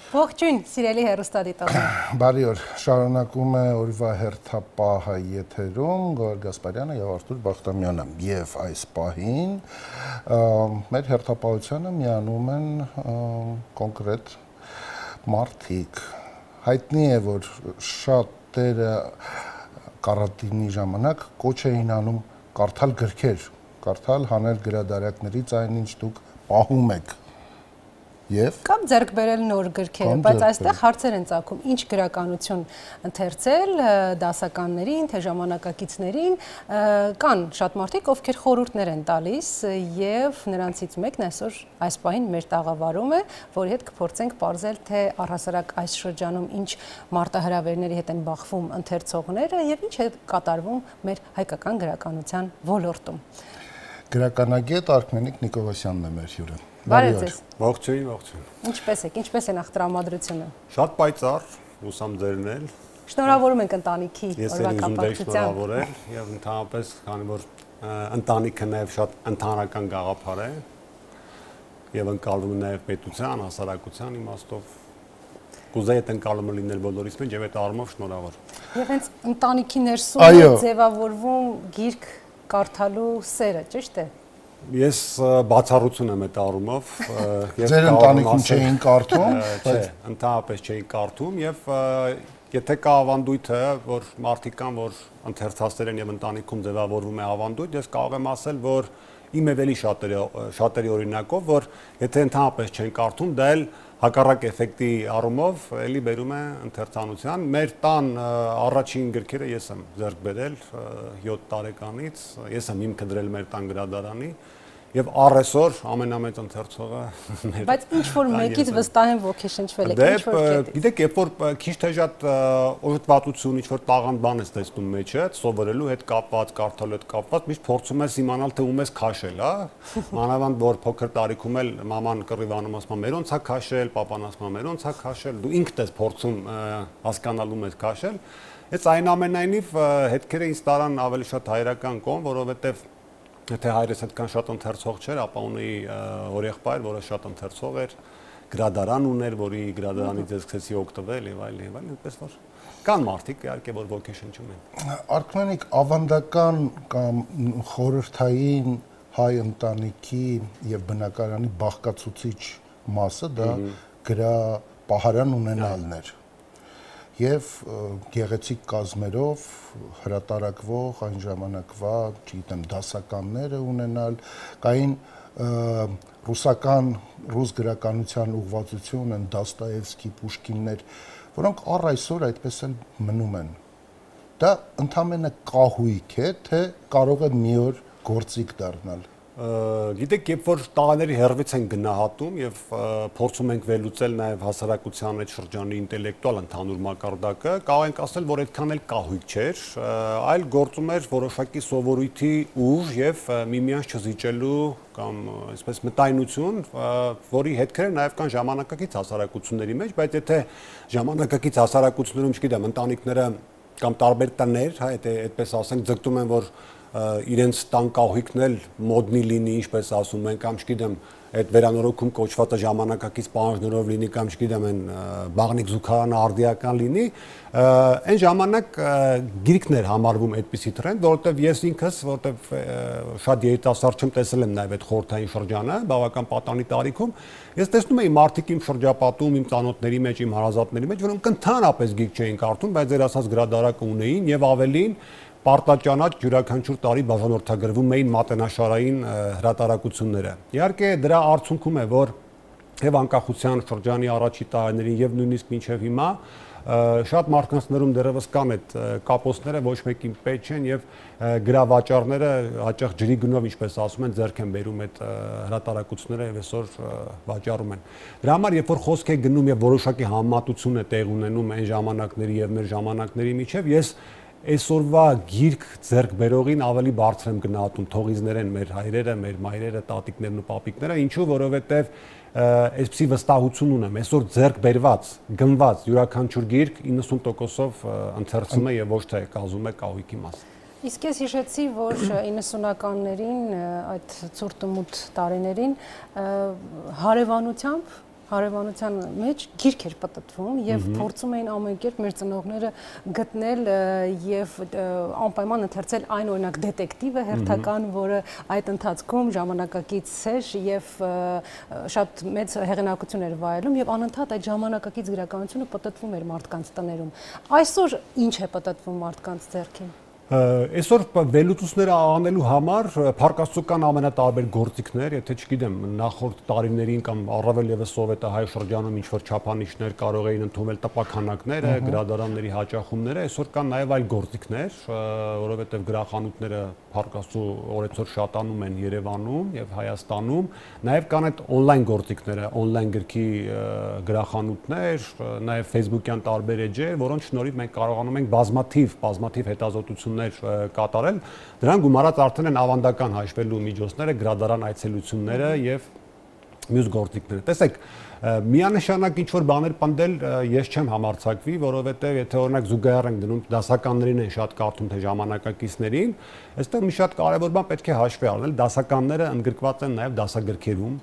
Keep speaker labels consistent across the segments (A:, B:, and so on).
A: Ողջույն, սիրելի հեռուստադիտողներ։
B: Բարի օր, շարունակում է օրվա հերթապահը եթերում Գոհար Գասպարյանը եւ Արթուր Բախտամյանը եւ այս պահին մեր հերթապահությանը միանում են կոնկրետ մարդիկ։ Հայտնի է, որ շատերը կարանտինի ժամանակ կոչ էին անում կարդալ գրքեր, կարդալ հանել գրադարակներից այն ինչ դուք պահում եք։
A: Կամ ձեռք բերել նոր գրքերը, բայց այստեղ հարցեր են ծագում, ինչ գրականություն ընթերցել դասականներին, թե ժամանակակիցներին, կան շատ մարդիկ, ովքեր խորհուրդներ են տալիս եւ նրանցից մեկն այսօր այս պահին մեր տաղավարում է, որի հետ կփորձենք պարզել, թե առհասարակ այս շրջանում ինչ մարտահրավերների հետ են բախվում ընթերցողները եւ ինչ է կատարվում մեր հայկական գրականության ոլորտում։
B: Գրականագետ Արքմենիկ Նիկողոսյանն է մեր հյուրը։
A: Բարև ձեզ։
C: Ողջույն, ողջույն։
A: Ինչպես եք, ինչպես է նախ տրամադրությունը։
C: Շատ պայծառ, հուսամ ձերն էլ։
A: Շնորհավորում ենք ընտանիքի օրվա
C: կապակցությամբ։ Եվ ընդհանրապես, քանի որ ընտանիքը նաև շատ ընդհանրական գաղափար է եւ ընկալվում է նաև պետության, հասարակության իմաստով, կուզեի այդ ընկալումը լինել բոլորիս մեջ եւ այդ առումով շնորհավոր։
A: Եւ հենց ընտանիքի ներսում է ձևավորվում գիրք կարդալու սերը, ճիշտ է։
C: Ես բացառություն եմ այդ առումով։
B: Ձեր ընտանիքում չէին կարդում,
C: չէ, ընդհանրապես չէին կարդում եւ եթե կա ավանդույթը, որ մարդիկ կան, որ ընթերցածներ են եւ ընտանիքում ձևավորվում է ավանդույթ, ես կարող եմ ասել, որ իմ էվելի շատերի օրինակով, որ եթե ընդհանրապես չեն կարդում, դա էլ հակառակ էֆեկտի առումով էլի բերում է ընթերցանության։ Մեր տան առաջին գրքերը ես եմ ձեռք բերել 7 տարեկանից, ես եմ հիմքը դրել մեր տան գրադարանի եւ առեսօր ամենամեծ ընթերցողը մեր։
A: Բայց ինչ որ մեկից վստահ եմ ոգեշնչվել եք, ինչ որ կետից։
C: Գիտեք, երբ որ քիչ թե շատ օժտվածություն, ինչ որ տաղանդ բան ես տեսնում մեջը, սովորելու հետ կապված, կարդալու հետ կապված, միշտ փորձում ես իմանալ, թե ում ես քաշել, հա։ Մանավանդ որ փոքր տարիքում էլ մաման կռիվանում ասում, մեր ոնց է քաշել, պապան ասում, մեր ոնց է քաշել, դու ինքդ ես փորձում հասկանալու մեջ քաշել։ Այս այնուամենայնիվ հետքերը ինձ տարան ավելի շատ հայրական կողմ, որովհետեւ եթե հայրս այդքան շատ ընթերցող չէր, ապա ունեի հորեղբայր, որը շատ ընթերցող էր, գրադարան ուներ, որի գրադարանից ես սկսեցի օգտվել եւ այլն, այնպես որ կան մարդիկ իհարկե, որ ոգեշնչում են։
B: Արքմենիկ, ավանդական կամ խորհրդային հայ ընտանիքի եւ բնակարանի բաղկացուցիչ մասը դա գրապահարան ունենալն էր։ Եվ գեղեցիկ կազմերով հրատարակվող այն ժամանակվա, չգիտեմ, դասականները ունենալ, կային ռուս գրականության ուղղվածություն են Դոստոևսկի, Պուշկիններ, որոնք առ այսօր այդպես էլ մնում են։ Դա ընդամենը կահույք է, թե կարող է մի օր գործիք դառնալ։
C: Գիտեք, երբ որ տաղաների հեռվից են գնահատում եւ փորձում ենք վերլուծել նաեւ հասարակության այդ շրջանի ինտելեկտուալ ընդհանուր մակարդակը, կարող ենք ասել, որ այդքան էլ կահույք չէր, այլ գործում էր որոշակի սովորույթի ուժ եւ միմյանց չզիջելու կամ այսպես մտայնություն, որի հետքերը նաեւ կան ժամանակակից հասարակությունների մեջ, բայց եթե ժամանակակից հասարակություններում, չգիտեմ, ընտանիքները կամ տարբեր տներ, հա, այդպես ասենք, ձգտում են, որ իրենց տան կահույքն էլ մոդնի լինի, ինչպես ասում են, կամ չգիտեմ, այդ վերանորոգում կոչվածը ժամանակակից պահանջներով լինի, կամ չգիտեմ, այն բաղնիկ զուգարանը արդիական լինի, այն ժամանակ գիրքներ համարվում այդպիսի տրենդ, որովհետև ես ինքս, որովհետև շատ երիտասարդ չեմ, տեսել եմ նաև այդ խորհրդային շրջանը, բավական պատանի տարիքում, ես տեսնում էի մարդիկ իմ շրջապատում, իմ ծանոթների մեջ, իմ հարազատների մեջ, որոնք ընդհանրապես գիրք չէին կարդում, բայց ձեր ասած գրադարակը ունեին եւ ավելին պարտաճանաչ յուրաքանչյուր տարի բաժանորդագրվում էին մատենաշարային հրատարակությունները։ Իհարկե դրա արդյունքում է, որ եւ անկախության շրջանի առաջի տարիներին եւ նույնիսկ մինչեւ հիմա շատ մարդկանցներում դեռևս կան այդ կապոցները, ոչ մեկին պետք չեն եւ գրավաճառները հաճախ ջրի գնով, ինչպես ասում են, ձեռք են բերում այդ հրատարակությունները եւ այսօր վաճառում են։ Դրա համար երբ որ խոսք է գնում եւ որոշակի համեմատություն է տեղ ունենում այն ժամանակների եւ մեր ժամանակների միջեւ, ես այսօրվա գիրք ձեռք բերողին ավելի բարձր եմ գնահատում, թողիզներ են մեր հայրերը, մեր մայրերը, տատիկներն ու պապիկները, ինչու, որովհետև այսպիսի վստահություն ունեմ, այսօր ձեռք բերված, գնված յուրաքանչյուր գիրք 90%-ով ընթերցում է եւ ոչ թե կազում է կահույքի մաս։
A: Իսկ ես հիշեցի, որ 90-ականներին, այդ ցուրտ ու մութ տարիներին հարևանությամբ հարևանության մեջ գիրք էր պատտվում եւ փորձում էին ամեն կերպ մեր ծնողները գտնել եւ անպայման ընթերցել այն օրինակ դետեկտիվը հերթական, որը այդ ընթացքում ժամանակակից էր եւ շատ մեծ հեղինակություն էր վայելում եւ անընդհատ այդ ժամանակակից գրականությունը պատտվում էր մարդկանց տներում։ Այսօր ինչ է պատտվում մարդկանց ձեռքին։
C: Այսօր վերլուծությունները անելու համար փառկաստուկան ամենատարբեր գործիքներ, եթե չգիտեմ, նախորդ տարիներին կամ առավել եւս սովետահայ շրջանում ինչ-որ չափանիշներ կարող էին ընդունվել տպաքանակները, գրադարանների հաճախումները, այսօր կան նաեւ այլ գործիքներ, որովհետեւ գրախանութները փառկաստու օրեցօր շատանում են Երևանում եւ Հայաստանում, նաեւ կան այդ on-line գործիքները, on-line գրքի գրախանութներ, նաեւ Facebook-յան տարբեր էջեր, որոնց շնորհիվ մենք կարողանում ենք բազմաթիվ հետազոտություններ կատարել, դրան գումարած արդեն են ավանդական հաշվելու միջոցները, գրադարան այցելությունները եւ մյուս գործիքները։ Տեսեք, միանշանակ ինչ-որ բաներ պնդել ես չեմ համարձակվի, որովհետեւ եթե օրինակ զուգահեռ ենք դնում դասականներին են շատ կարդում թե ժամանակակիցներին, այստեղ մի շատ կարեւոր բան պետք է հաշվի առնել, դասականները ընդգրկված են նաեւ դասագրքերում,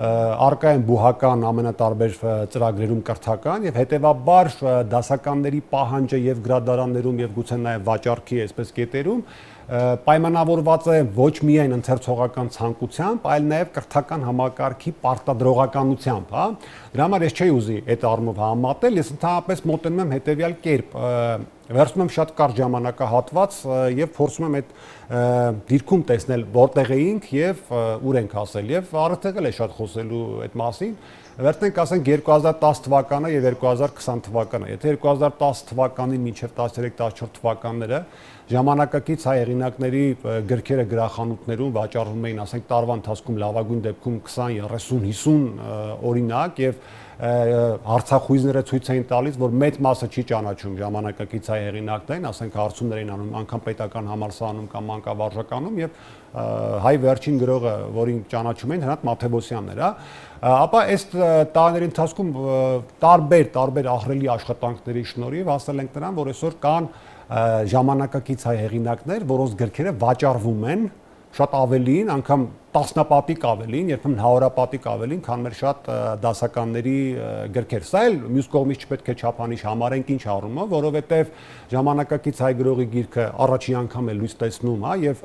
C: արկա են բուհական ամենատարբեր ծրագրերում կրթական եւ հետեւաբար դասականների պահանջը եւ գրադարաններում եւ գուցե նաեւ վաճառքի այսպես կետերում պայմանավորված է ոչ միայն ընթերցողական ցանկությամբ, այլ նաեւ կրթական համակարգի պարտադրողականությամբ, հա։ Դրա համար ես չէի ուզի այդ առումով համատել, ես ընդհանրապես մոտենում եմ հետեւյալ կերպ, վերցնում եմ շատ կարճ ժամանակահատված եւ փորձում եմ այդ դիրքում տեսնել որտեղ էինք եւ ուր ենք հասել եւ արդեն էլ է շատ խոսելու այդ մասին։ Վերցնենք ասենք 2010 թվականը եւ 2020 թվականը։ Եթե 2010 թվականին մինչեւ 13-14 թվականները ժամանակակից հայ հեղինակների գրքերը գրախանութներում վաճառվում էին, ասենք տարվա ընթացքում լավագույն դեպքում 20, 30, 50 օրինակ եւ հարցախույզները ցույց էին տալիս, որ մեծ մասը չի ճանաչում ժամանակակից հայ հեղինակներին, ասենք հարցումներ էին անում անգամ պետական համալսարանում կամ մանկավարժականում եւ հայ վերջին գրողը, որին ճանաչում էին, Հրանտ Մաթեոսյանն էր, ապա այս տարիների ընթացքում տարբեր ահռելի աշխատանքների շնորհիվ հասել ենք նրան, որ այսօր կան ժամանակակից հայ հեղինակներ, որոնց գրքերը վաճառվում են շատ ավելին, անգամ տասնապատիկ ավելին, երբեմն հարյուրապատիկ ավելին, քան մեր շատ դասականների գրքեր։ Սա էլ մյուս կողմից չպետք է չափանիշ համարենք ինչ առումով, որովհետև ժամանակակից հայ գրողի գիրքը առաջին անգամ է լույս տեսնում, հա, եւ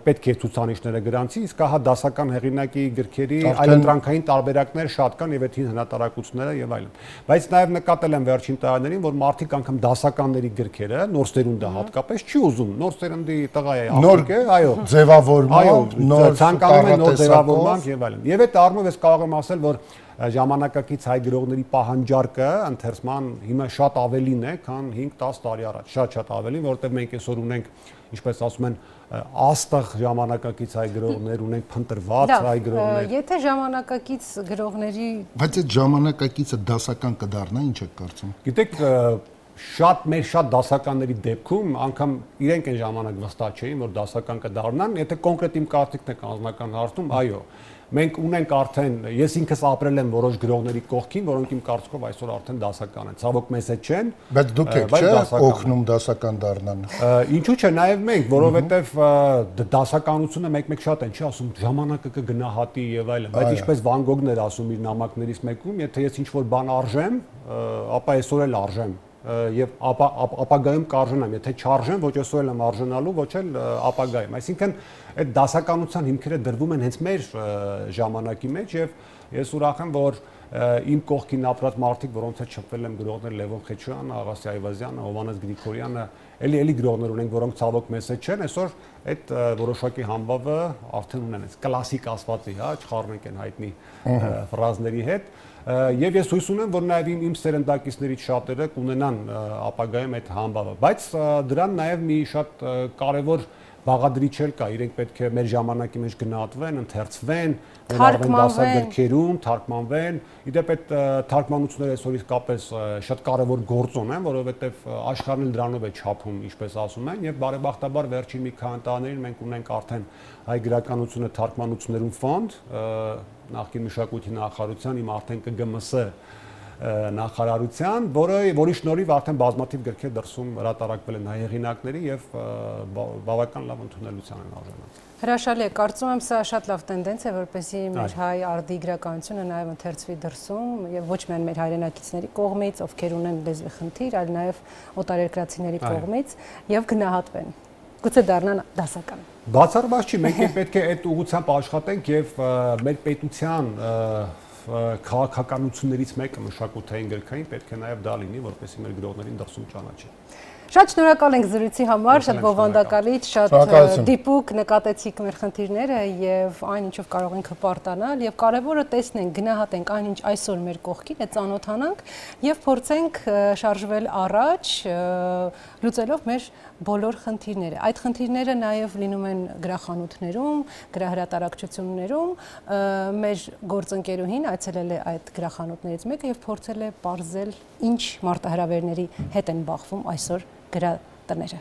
C: պետք է ցուցանիշները գրանցի, իսկ հա դասական հեղինակի գրքերի այլընտրանքային տարբերակներ շատ կան եւ այդ հին հնատարակությունները եւ այլն։ Բայց նաեւ նկատել եմ վերջին տարիներին, որ մարդիկ անգամ դասականների գրքերը, նոր սերունդը հատկապես չի ուզում, նոր սերունդի տղա է, աղջիկ է, այո,
B: ձևավորման, նոր
C: նոր ձևավորմամբ եւ այլն։ Եվ այդ առումով ես կարող եմ ասել, որ ժամանակակից հայ գրողների պահանջարկը ընթերցման հիմա շատ ավելին է, քան 5-10 տարի առաջ, շատ ավելին, որովհետեւ մենք այսօր ունենք, ինչպես ասում են, աստղ ժամանակակից հայ գրողներ, ունենք փնտրված հայ գրողներ։
A: Եթե ժամանակակից գրողների
B: Բայց այդ ժամանակակիցը դասական կդառնա, ինչ եք կարծում։
C: Գիտեք, շատ դասականների դեպքում անգամ իրենք այն ժամանակ վստահ չէին, որ դասական կդառնան, եթե կոնկրետ իմ կարծիքն է անձնական հարցում, այո, մենք ունենք արդեն, ես ինքս ապրել եմ որոշ գրողների կողքին, որոնք իմ կարծիքով այսօր արդեն դասական են, ցավոք մեզ հետ չեն,
B: բայց դուք եք չէ օգնում դասական դառնան։
C: Ինչու՞ չէ, նաև մենք, որովհետև դասականությունը մեկ-մեկ շատ են, չի ասում ժամանակը կգնահատի եւ այլն, բայց ինչպես Վան Գոգն էր ասում իր նամակներից մեկում, եթե ես ինչ-որ բան արժեմ, ապա այսօր էլ արժեմ եւ ապագայում կարժենամ, եթե չարժեմ, ոչ այսօր եմ արժանալու, ոչ էլ ապագայում։ Այսինքն այդ դասականության հիմքերը դրվում են հենց մեր ժամանակի մեջ եւ ես ուրախ եմ, որ իմ կողքին ապրած մարդիկ, որոնց հետ շփվել եմ, գրողներ Լևոն Խեչյանը, Աղասի Այվազյանը, Հովհաննես Գրիգորյանը, էլի գրողներ ունենք, որոնք ցավոք մեզ հետ չեն, այսօր այդ որոշակի համբավը արդեն ունեն, այս կլասիկ ասվածի, հա, չխառնենք այն հայտնի ֆրազների հետ։ Եվ ես հույս ունեմ, որ նաև իմ սերնդակիցներից շատերը կունենան ապագայում այդ համբավը, բայց դրան նաև մի շատ կարևոր բաղադրիչ էլ կա, իրենք պետք է մեր ժամանակի մեջ գնահատվեն, ընթերցվեն, ներառվեն դասագրքերում, թարգմանվեն։ Իդեպ այդ թարգմանությունները այսօր իսկապես շատ կարևոր գործոն են, որովհետև աշխարհն էլ դրանով է չափում, ինչպես ասում են, եւ բարեբախտաբար վերջին մի քանի տարիներին մենք ունենք արդեն հայ գրականությունը թարգմանություններում ֆոնդ, նախկին մշակույթի նախարարության իմ արդեն ԿԳՄՍ նախարարության, որի շնորհիվ արդեն բազմաթիվ գրքեր դրսում հրատարակվել են հայ հեղինակների եւ բավական լավ ընդունելության են արժանացել։
A: Հրաշալի է, կարծում եմ սա շատ լավ տենդենս է, որպեսզի մեր հայ արդի գրականությունը նաև ընթերցվի դրսում եւ ոչ միայն մեր հայրենակիցների կողմից, ովքեր ունեն լեզվի խնդիր, այլ նաև օտարերկրացիների կողմից եւ գնահատվեն։ Գուցե դառնան դասական։
C: Բացառված չի, մենք պետք է այդ ուղղությամբ աշխատենք եւ մեր պետության քաղաքականություններից մեկը մշակութային գրքային պետք է նաև դա լինի, որպեսզի մեր գրողներին դրսում ճանաչի։
A: Շատ շնորհակալ ենք զրույցի համար, շատ բովանդակալից, շատ դիպուկ նկատեցիք մեր խնդիրները եւ այն ինչով կարող ենք հպարտանալ եւ կարեւորը տեսնենք, գնահատենք այն ինչ այսօր մեր կողքին է, ծանոթանանք եւ փորձենք շարժվել առաջ, լուծելով մեր բոլոր խնդիրները։ Այդ խնդիրները նաև լինում են գրախանութներում, գրահրատարակչություններում, մեր գործընկերուհին այցելել է այդ գրախանութներից մեկը եւ փորձել է պարզել ինչ մարտահրավերների հետ են բախվում այսօր գրատները։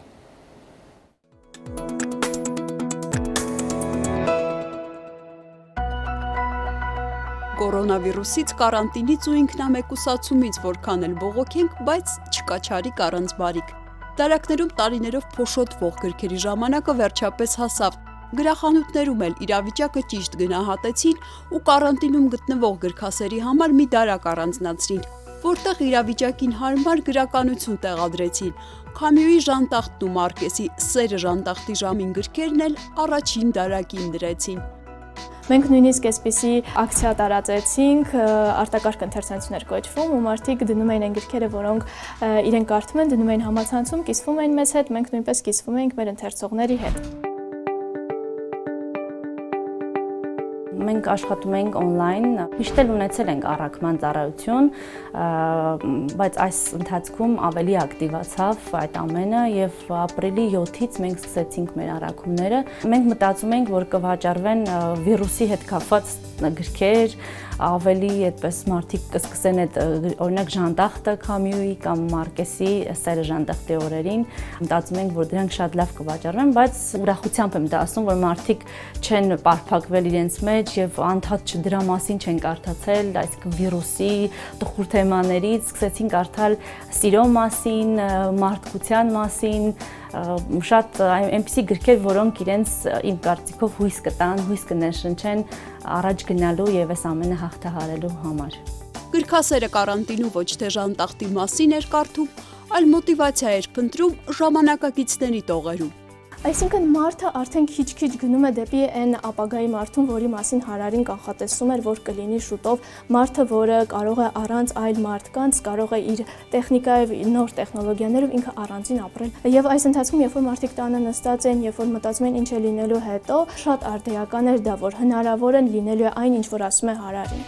D: Կորոնավիրուսից, կարանտինից ու ինքնամեկուսացումից որքան էլ բողոքենք, բայց չկա չարիք առանց բարիք։ Դարակներում տարիներով փոշոտվող գրքերի ժամանակը վերջապես հասավ։ Գրախանութներում էլ իրավիճակը ճիշտ գնահատեցին ու կարանտինում գտնվող գրքասերի համար մի դարակ առանձնացրին, որտեղ իրավիճակին հարմար գրականություն տեղադրեցին։ Քամյուի Ժանտախտն ու Մարկեսի Սերը Ժանտախտի ժամին գրքերն էլ առաջին դարակին դրեցին։
E: Մենք նույնիսկ այսպիսի ակցիա տարածեցինք, արտակարգ ընթերցանություններ կոչվում ու մարդիկ դնում էին այն գրքերը, որոնք իրենք կարդում են, դնում էին համացանցում, կիսվում էին մեզ հետ, մենք նույնպես կիսվում էինք մեր ընթերցողների հետ։
F: Մենք աշխատում ենք on-line, միշտ էլ ունեցել ենք առաքման ծառայություն, բայց այս ընթացքում ավելի ակտիվացավ այդ ամենը եւ ապրիլի 7-ից մենք սկսեցինք մեր առաքումները։ Մենք մտածում ենք, որ կվաճառվեն վիրուսի հետ կապված գրքեր, ավելի այդպես մարդիկ կսկսեն այդ օրինակ Ժանտախտը Քամյուի կամ Մարկեսի Սերը Ժանտախտի օրերին, մտածում ենք, որ դրանք շատ լավ կվաճառվեն, բայց ուրախությամբ եմ դա ասում, որ մարդիկ չեն պարփակվել իրենց մեջ եւ անդադ դրա մասին չեն կարդացել, այսինքն վիրուսի, տխուր թեմաներից, սկսեցին կարդալ սիրո մասին, մարդկության մասին, շատ այնպիսի գրքեր, որոնք իրենց իմ կարծիքով հույս կտան, հույս կներշնչեն առաջ գնալու եւ այս ամենը հաղթահարելու համար։
D: Գրքասերը կարանտինու ոչ թե Ժանտախտի մասին էր կարդում, այլ մոտիվացիա էր փնտրում ժամանակակիցների տողերում։
E: Այսինքն մարդը արդեն քիչ-քիչ գնում է դեպի այն ապագայի մարդուն, որի մասին Հարարին կանխատեսում էր, որ կլինի շուտով, մարդը, որը կարող է առանց այլ մարդկանց, կարող է իր տեխնիկայով, նոր տեխնոլոգիաներով ինքը առանձին ապրել։ Եվ այս ընթացքում, երբ որ մարդիկ տանը նստած են, երբ որ մտածում են ինչ է լինելու հետո, շատ արդիական էր դա, որ հնարավոր են լինելու է այն, ինչ որ ասում է Հարարին։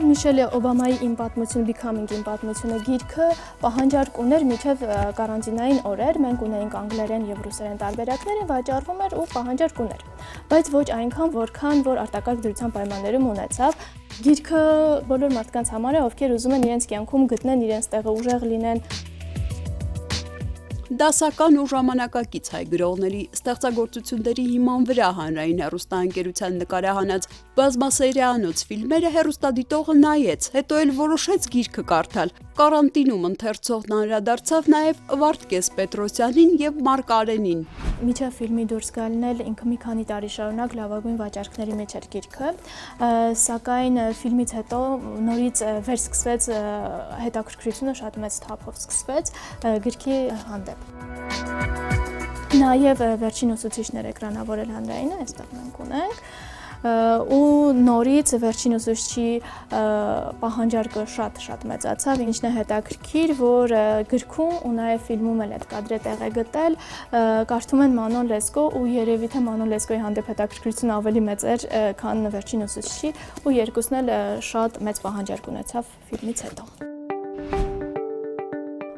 E: Միշել Օբամայի «Իմ պատմություն», Becoming Իմ պատմությունը գիրքը պահանջարկ ուներ մինչև կարանտինային օրեր, մենք ունեինք անգլերեն եւ ռուսերեն տարբերակները, վաճառվում էր ու պահանջարկ ուներ, բայց ոչ այնքան, որքան որ արտակարգ դրության պայմաններում ունեցավ։ Գիրքը բոլոր մարդկանց համար է, ովքեր ուզում են իրենց կյանքում գտնեն իրենց տեղը, ուժեղ լինեն։
D: Դասական ու ժամանակակից հայ գրողների ստեղծագործությունների հիման վրա հանրային հեռուստաընկերության նկարահանած բազմասերիանոց ֆիլմերը հեռուստադիտողը նայեց, հետո էլ որոշեց գիրքը կարդալ։ Կարանտինում ընթերցողն անդրադարձավ նաև Վարդգես Պետրոսյանին եւ Մարկ Արենին։
E: Միջև ֆիլմի դուրս գալն էլ ինքը մի քանի տարի շարունակ լավագույն վաճառքների մեջ էր գիրքը, սակայն ֆիլմից հետո նորից վերսկսվեց հետաքրքրությունը, շատ մեծ թափով սկսվեց գրքի հանդեպ։ Նաև վերջին ուսուցիչներ էկրանավորել հանրայինը, այստեղ մենք ունենք, ու նորից վերջին ուսուցչի պահանջարկը շատ մեծացավ, ինչն է հետաքրքիր, որ գրքում ու նաև ֆիլմում էլ այդ կադրը տեղ է գտել, կարդում են Մանոն Լեսկո ու երևի թե Մանոն Լեսկոյի հանդեպ հետաքրքրությունը ավելի մեծ էր, քան վերջին ուսուցչի, ու երկուսն էլ շատ մեծ պահանջարկ ունեցավ ֆիլմից հետո։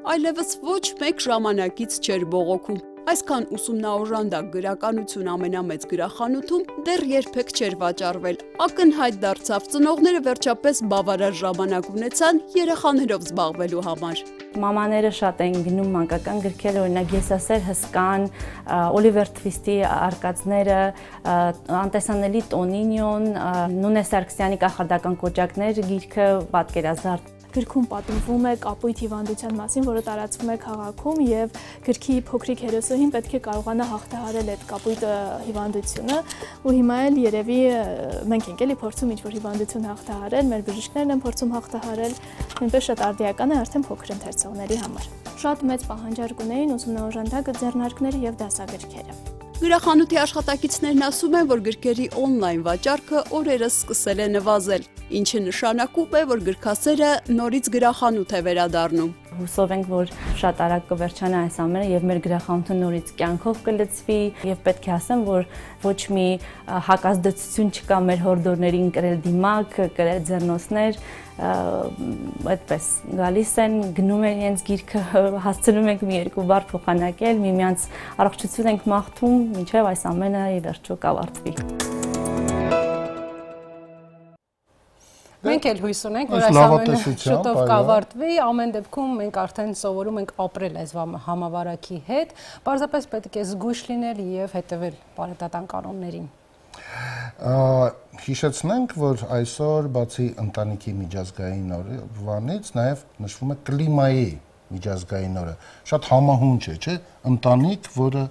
D: Այլևս ոչ մեկ ժամանակից չէր բողոքում։ Այսքան ուսումնաօժանդակ գրականություն ամենամեծ գրախանութում դեռ երբեք չէր վաճառվել։ Ակնհայտ դարձավ, ծնողները վերջապես բավարար ժամանակ ունեցան երեխաներով զբաղվելու համար։
F: Մամաները շատ են գնում մանկական գրքեր, օրինակ Եսասեր հսկան, Օլիվեր Թվիստի արկածները, անտեսանելի Տոնինյոն, Նունե Սարգսյանի կախարդական կոճակներ գիրքը պատկերազարդ։
E: Գրքում պատմվում է կապույտ հիվանդության մասին, որը տարածվում է քաղաքում, եւ գրքի փոքրիկ հերոսուհին պետք է կարողանա հաղթահարել այդ կապույտ հիվանդությունը, ու հիմա էլ երևի մենք ենք էլի փորձում ինչ-որ հիվանդություն հաղթահարել, մեր բժիշկներն են փորձում հաղթահարել, նույնպես շատ արդիական է արդեն փոքր ընթերցողների համար։ Շատ մեծ պահանջարկ ունեին ուսումնաօժանդակ ձեռնարկները եւ դասագրքերը։
D: Գրախանութի աշխատակիցներն ասում են, որ գրքերի օնլայն վաճառքը օրերս սկսել է նվազել, ինչը նշանակում է, որ գրքասերը նորից գրախանութ է վերադառնում։
F: Հուսով ենք, որ շատ արագ կվերջանա այս ամենը եւ մեր գրախանութը նորից կյանքով կլցվի եւ պետք է ասեմ, որ ոչ մի հակազդեցություն չկա մեր հորդորներին կրել դիմակ, կրել ձեռնոցներ, այդպես գալիս են, գնում են իրենց գիրքը, հասցնում ենք մի երկու բառ փոխանակել, միմյանց առողջություն ենք մաղթում, մինչեւ այս ամենը ի վերջո կավարտվի։
A: Մենք էլ հույս ունենք, որ այս ամենը շուտով կավարտվի, ամեն դեպքում մենք արդեն սովորում ենք ապրել այս համավարակի հետ, պարզապես պետք է զգույշ լինել եւ հետեւել բարետատան կանոններին։
B: Հիշեցնենք, որ այսօր բացի ընտանիքի միջազգային օրվանից նաեւ նշվում է կլիմայի միջազգային օրը։ Շատ համահունչ է, չէ՞, ընտանիք, որը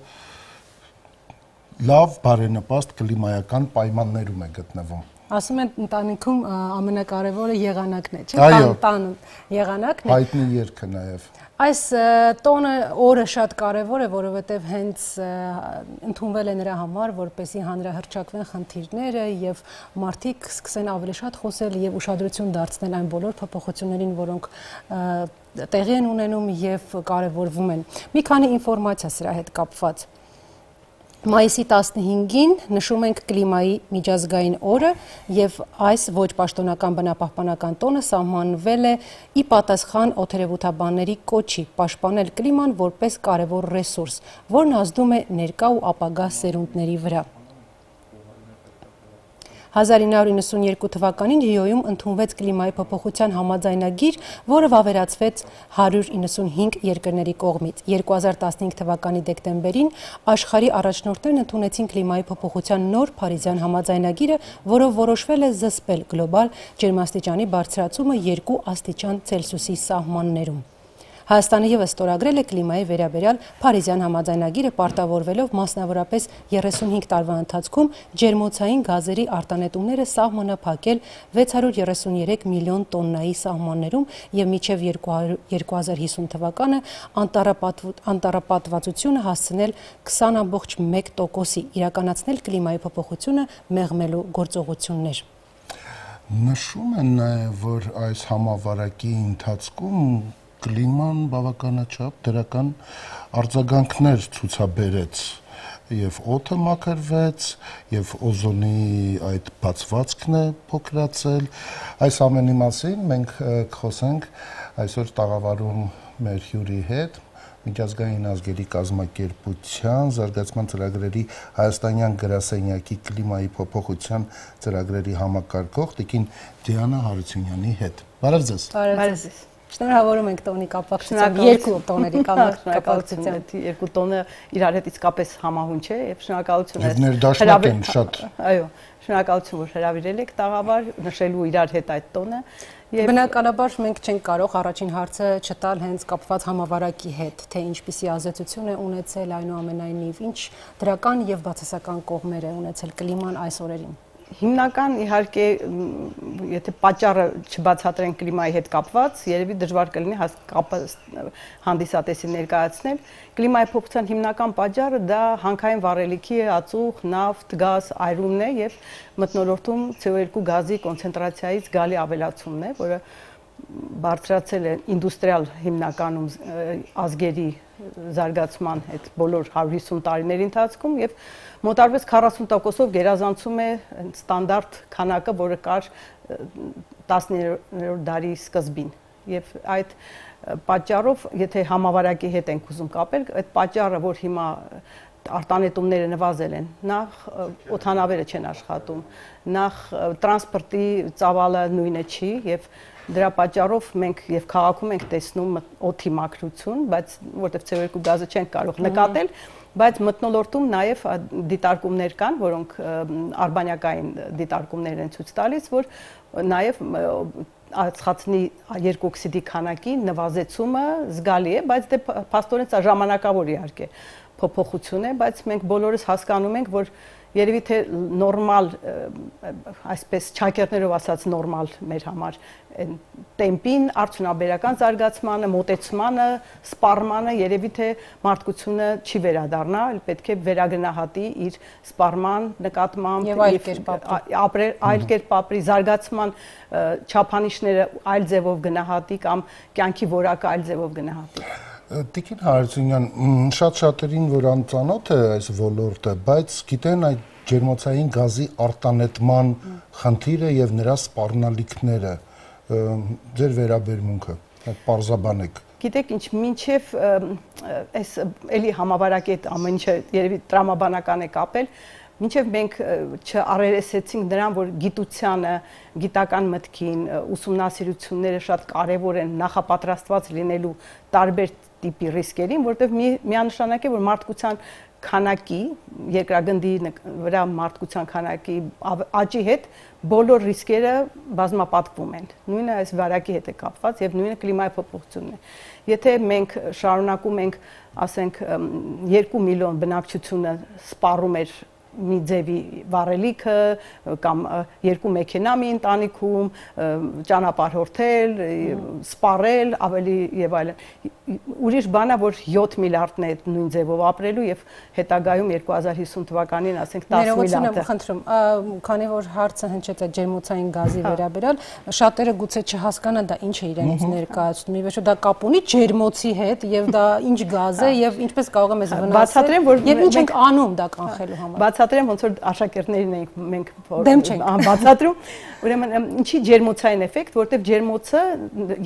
B: լավ բարենպաստ կլիմայական պայմաններում է գտնվում։
A: Ասում են ընտանիքում ամենակարևորը եղանակն է, չէ՞, տան եղանակն է։
B: Հայտնի երգը նաև։
A: Այս օրը շատ կարևոր է, որովհետև հենց ընդունվել է նրա համար, որպեսզի հանրահռչակվեն խնդիրները եւ մարդիկ սկսեն ավելի շատ խոսել եւ ուշադրություն դարձնել այն բոլոր փոփոխություններին, որոնք տեղի են ունենում եւ կարևորվում են։ Մի քանի ինֆորմացիա սրա հետ կապված։ Մայիսի 15-ին նշում ենք կլիմայի միջազգային օրը եւ այս ոչ պաշտոնական բնապահպանական տոնը սահմանվել է ի պատասխան օդերևութաբանների կոչի պաշտպանել կլիման որպես կարևոր ռեսուրս, որն ազդում է ներկա ու ապագա սերունդների վրա։ 1992 թվականին Ռիոյում ընդունվեց կլիմայի փոփոխության համաձայնագիր, որը վավերացվեց 195 երկրների կողմից։ 2015 թվականի դեկտեմբերին աշխարհի առաջնորդներն ընդունեցին կլիմայի փոփոխության նոր Փարիզյան համաձայնագիրը, որով որոշվել է զսպել գլոբալ ջերմաստիճանի բարձրացումը 2 աստիճան Ցելսիուսի սահմաններում։ Հայաստանը ևս ստորագրել է կլիմայի վերաբերյալ Փարիզյան համաձայնագիրը, պարտավորվելով մասնավորապես 35 տարվա ընթացքում ջերմոցային գազերի արտանետումները սահմանափակել 633 միլիոն տոննայի սահմաններում եւ մինչեւ 2050 թվականը անտառապատվածությունը հասցնել 20.1%-ի, իրականացնել կլիմայի փոփոխությունը մեղմելու գործողություններ։
B: Նշում են նաեւ, որ այս համավարակի ընթացքում կլիման բավականաչափ դրական արձագանքներ ցուցաբերեց եւ օդը մաքրվեց եւ օզոնի այդ բացվածքն է փոքրացել այս ամենի մասին մենք կխոսենք այսօր տաղավարում մեր հյուրի հետ միջազգային ազգերի կազմակերպության զարգացման ծրագրերի հայաստանյան գրասենյակի կլիմայի փոփոխության ծրագրերի համակարգող տիկին Դիանա Հարությունյանի հետ բարև ձեզ
A: Բարև ձեզ Շնորհավորում ենք տոնի կապակցությամբ երկու տոների կապակցությամբ
G: երկու տոնը իրար հետ իսկապես համահունչ է եւ շնորհակալություն
B: եւ ներդաշնակ են շատ
G: այո շնորհակալություն որ հրավիրել եք տաղավար նշելու իրար հետ այդ տոնը
A: եւ բնականաբար մենք չենք կարող առաջին հարցը չտալ հենց կապված համավարակի հետ թե ինչպիսի ազդեցություն է ունեցել այնուամենայնիվ ինչ դրական եւ բացասական կողմեր է ունեցել կլիման այս օրերին
G: Հիմնական իհարկե եթե պատճառը չբացատրենք կլիմայի հետ կապված, երևի դժվար կլինի կապը հանդիսատեսին ներկայացնել։ Կլիմայի փոփոխության հիմնական պատճառը դա հանքային վառելիքի ածուխ, նավթ, գազ, այրումն է եւ մթնոլորտում CO2 գազի կոնցենտրացիայից գալի ավելացումն է, որը բարձրացել է ինդուստրիալ հիմնականում ազգերի զարգացման հետ բոլոր 150 տարիների ընթացքում եւ մոտարվեց 40%-ով գերազանցում է ստանդարտ քանակը, որը կար 19-րդ դարի սկզբին եւ այդ պատճառով, եթե համավարակի հետ ենք ուզում կապել, այդ պատճառը, որ հիմա արտանետումները նվազել են, նախ օդանավերը չեն աշխատում, նախ տրանսպորտի ծավալը նույնը չի եւ դրա պատճառով մենք եւ քաղաքում ենք տեսնում օդի մաքրություն, բայց որտեղ CO2 գազը չեն կարող նկատել, բայց մթնոլորտում նաեւ դիտարկումներ կան, որոնք արբանյակային դիտարկումներ են ցույց տալիս, որ նաեւ ածխածնի երկօքսիդի քանակի նվազեցումը զգալի է, բայց դե փաստորեն սա ժամանակավոր իհարկե փոփոխություն է, բայց մենք բոլորս հասկանում ենք, որ երևի թե նորմալ, այսպես չակերտներով ասած նորմալ մեր համար տեմպին, արդյունաբերական զարգացմանը, մոտեցմանը, սպառմանը երևի թե մարդկությունը չի վերադառնա, պետք է վերագնահատի իր սպառման նկատմամբ
A: եւ
G: այլ կերպ ապրի, զարգացման չափանիշները այլ ձևով գնահատի կամ կյանքի որակը այլ ձևով գնահատի։
B: Տիկին Հարությունյան, շատ-շատերին, որ անծանոթ է այս ոլորտը, բայց գիտեն այդ ջերմոցային գազի արտանետման խնդիրը եւ նրա սպառնալիքները, ձեր վերաբերմունքը, այդ պարզաբանեք։
G: Գիտեք ինչ, մինչև այս էլի համավարակի հետ ամեն ինչը երևի տրամաբանական է կապել, մինչև մենք չառերեսեցինք նրան, որ գիտությանը, գիտական մտքին, ուսումնասիրությունները շատ կարևոր են նախապատրաստված լինելու տարբեր տիպի ռիսկերին, որտեղ միանշանակ է, որ մարդկության քանակի, երկրագնդի վրա մարդկության քանակի աճի հետ բոլոր ռիսկերը բազմապատկվում են։ Նույնը այս վարակի հետ է կապված եւ նույնը կլիմայի փոփոխությունն է։ Եթե մենք շարունակում ենք, ասենք, 2 միլիոն բնակչությունը սպառում էր մի ձևի վառելիքը կամ 2 մեքենա մի ընտանիքում, ճանապարհորդել, սպառել, ավելի եւ այլն։ Ուրիշ բան է, որ 7 միլիարդն է նույն ձևով ապրելու եւ հետագայում 2050 թվականին, ասենք 10 միլիարդ։
A: Ներողություն եմ խնդրում, քանի որ հարցը հնչեց այդ ջերմոցային գազի վերաբերյալ, շատերը գուցե չհասկանան դա ինչ է իրենից ներկայացնում։ Ի վերջո դա կապ ունի ջերմոցի հետ եւ դա ինչ գազ է եւ ինչպես կարող է մեզ վնասել։ Եվ ինչ ենք անում դա կանխելու համար։
G: Բացատրեմ, ոնց որ աշակերտներին ենք մենք բացատրում, ուրեմն ինչի ջերմոցային էֆեկտ, որտեղ ջերմոցը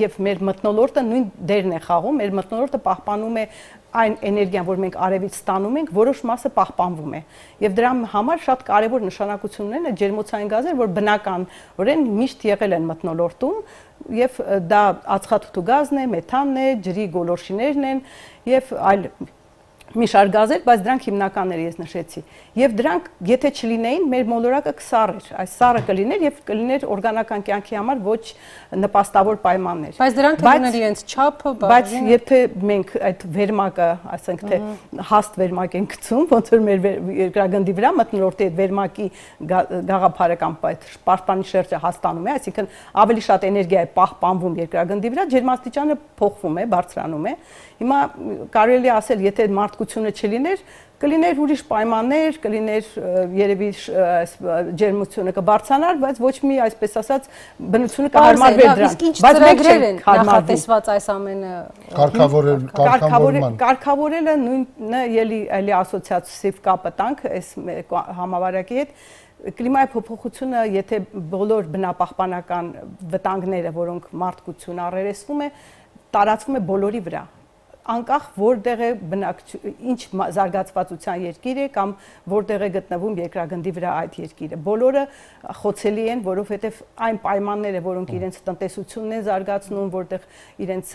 G: եւ մեր մթնոլորտը նույն դերն է խաղում, մեր մթնոլորտը պահպանում է այն էներգիան, որ մենք արևից ստանում ենք, որոշ մասը պահպանվում է։ Եվ դրա համար շատ կարևոր նշանակություն ունեն այդ ջերմոցային գազերը, որ բնականորեն միշտ եղել են մթնոլորտում, եւ դա ածխաթթու գազն է, մեթանն է, ջրի գոլորշիներն են եւ այլ մի շարք գազեր, բայց դրանք հիմնականները ես նշեցի։ Եվ դրանք, եթե չլինեին, մեր մոլորակը կսառ էր, այս սառը կլիներ եւ կլիներ օրգանական կյանքի համար ոչ նպաստավոր պայմաններ։
A: Բայց դրանք ունեն իրենց չափը,
G: բայց եթե մենք այդ վերմակը, ասենք թե հաստ վերմակ ենք գցում, ոնց որ մեր երկրագնդի վրա մթնոլորտի այդ վերմակի գաղափարը կամ այդ պաշտպանի շերտը հաստանում է, այսինքն ավելի շատ էներգիա է պահպանվում երկրագնդի վրա, ջերմաստիճանը փոխվում է, բարձրանում է։ Հիմա կարելի է ասել, եթե մարդկությունը չլիներ, կլիներ ուրիշ պայմաններ, կլիներ երևի ջերմությունը կբարձրանար, բայց ոչ մի, այսպես ասած, բնությունը կհարմարվեր դրան։
A: Իսկ ինչ ծրագրեր են նախատեսված այս ամենը
G: կարգավորելը նույնը էլի ասոցիատիվ կապը տանք այս համավարակի հետ։ Կլիմայի փոփոխությունը, եթե բոլոր բնապահպանական վտանգները, որոնք մարդկությունը առերեսվում է, տարածվում է բոլորի վրա, անկախ որտեղ է ինչ զարգացվածության երկիր է կամ որտեղ է գտնվում երկրագնդի վրա այդ երկիրը։ Բոլորը խոցելի են, որովհետև այն պայմանները, որոնք իրենց տնտեսությունն են զարգացնում, որտեղ իրենց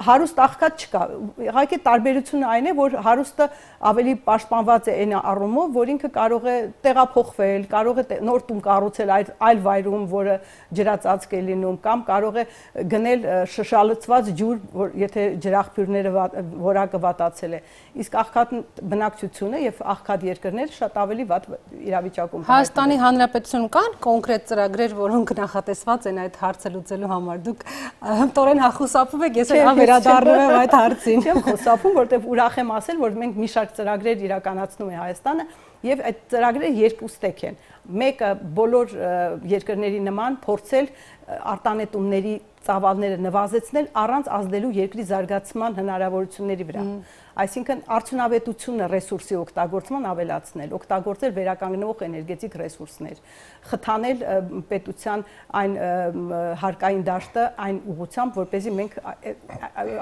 G: հարուստ աղքատ չկա։ Իհարկե տարբերությունը այն է, որ հարուստը ավելի պաշտպանված է այն առումով, որ ինքը կարող է տեղափոխվել, կարող է նոր տուն կառուցել այլ վայրում, որը ջրածածկ է լինում, կամ կարող է գնել շալցված ջուր, որ եթե ջրաղբյուրները որակը վատացել է, իսկ աղքատ բնակչությունը եւ աղքատ երկրները շատ ավելի վատ իրավիճակում։
A: Հայաստանի Հանրապետությունում կան կոնկրետ ծրագրեր, որոնք նախատեսված են այդ հարցը լուծելու համար։ Դուք հմտորեն հախուսափում եք, ես վերադառնում եմ այդ հարցին։
G: Չեմ խուսափում, որտեղ ուրախ եմ ասել, որ մենք մի շարք ծրագրեր իրականացնում է Հայաստանը եւ այդ ծրագրերը երկու ստեկ են։ Մեկը բոլոր երկրների նման փորձել արտանետումների ծավալները նվազեցնել առանց ազդելու երկրի զարգացման հնարավորությունների վրա։ այսինքն արդյունավետությունը ռեսուրսի օգտագործման ավելացնել, օգտագործել վերականգնվող էներգետիկ ռեսուրսներ, խթանել պետության այն հարկային դաշտը այն ուղղությամբ, որպեսզի մենք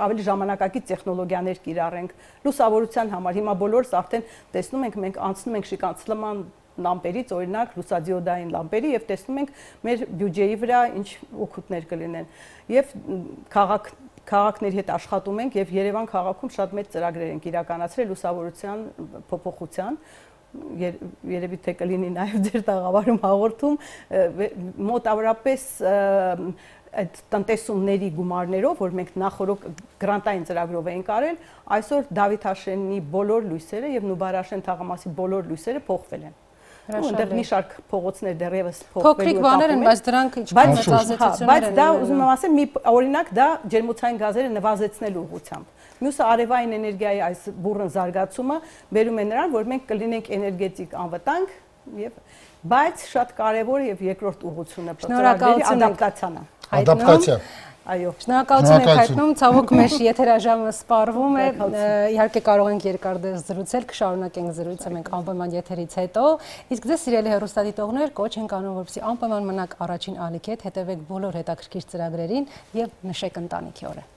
G: ավելի ժամանակակից տեխնոլոգիաներ կիրառենք լուսավորության համար։ Հիմա բոլորս արդեն տեսնում ենք, մենք անցնում ենք շիկանցլման լամպերից, օրինակ լուսադիոդային լամպերի եւ տեսնում ենք մեր բյուջեի վրա ինչ օգուտներ կլինեն։ Եվ քաղաքների հետ աշխատում ենք եւ Երևան քաղաքում շատ մեծ ծրագրեր ենք իրականացրել լուսավորության փոփոխության, երևի թե կլինի նաեւ ձեր տաղավարում հաղորդում, մոտավորապես այդ տնտեսումների գումարներով, որ մենք նախորդ գրանտային ծրագրով ենք արել, այսօր Դավիթ Հաշենի բոլոր լույսերը եւ Նուբարաշեն թաղամասի բոլոր լույսերը փոխվել են։ Այնտեղ մի շարք փողոցներ դեռևս
A: փոքրիկ բաներ են, բայց դրանք ինչքան մեծ ազդեցություններ են։
G: Բայց դա ուզում եմ ասել, մի օրինակ դա ջերմոցային գազերը նվազեցնելու ուղղությամբ։ Մյուսը արևային էներգիայի այս բուրըն զարգացումը բերում է նրան, որ մենք կլինենք էներգետիկ անվտանգ եւ բայց շատ կարեւոր եւ երկրորդ ուղղությունը ծրագրերի ադապտացիան է։
B: Ադապտացիա։
G: Այո։
A: Շնորհակալություն եք հայտնում, ցավոք մեր եթերաժամը սպառվում է, իհարկե կարող ենք երկար դեպս զրուցել, կշարունակենք զրույցը մենք անպայման եթերից հետո, իսկ ձեզ սիրելի հեռուստադիտողներ կոչ ենք անում, որպեսզի անպայման մնաք առաջին ալիքի հետ, հետևեք բոլոր հետաքրքիր ծրագրերին եւ նշեք ընտանիքի օրը։